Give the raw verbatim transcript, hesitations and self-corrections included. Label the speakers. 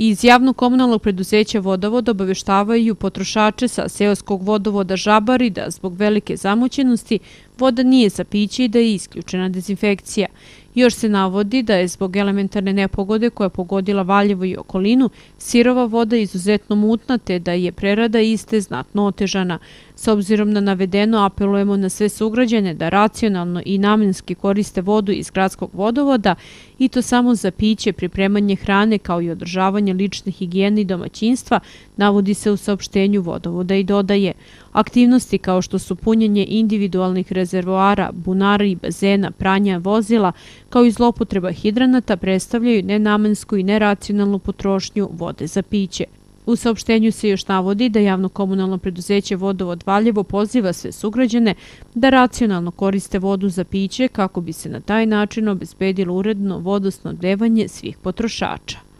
Speaker 1: Iz javnog komunalnog preduzeća Vodovod obaveštavaju potrošače sa seoskog vodovoda Žabari da zbog velike zamućenosti voda nije za piće i da je isključena dezinfekcija. Još se navodi da je zbog elementarne nepogode koja je pogodila Valjevo i okolinu sirova voda izuzetno mutna te da je prerada iste znatno otežana. S obzirom na navedeno apelujemo na sve sugrađane da racionalno i namenski koriste vodu iz gradskog vodovoda i to samo za piće, pripremanje hrane kao i održavanje lične higijene i domaćinstva, navodi se u saopštenju vodovoda i dodaje. Aktivnosti kao što su punjenje individualnih rezervoara, bunara i bazena, pranja vozila, kao i zloupotreba hidranata predstavljaju nenamensku i neracionalnu potrošnju vode za piće. U saopštenju se još navodi da javno komunalno preduzeće Vodovod Valjevo poziva sve sugrađane da racionalno koriste vodu za piće kako bi se na taj način obezbedilo uredno vodosnabdevanje svih potrošača.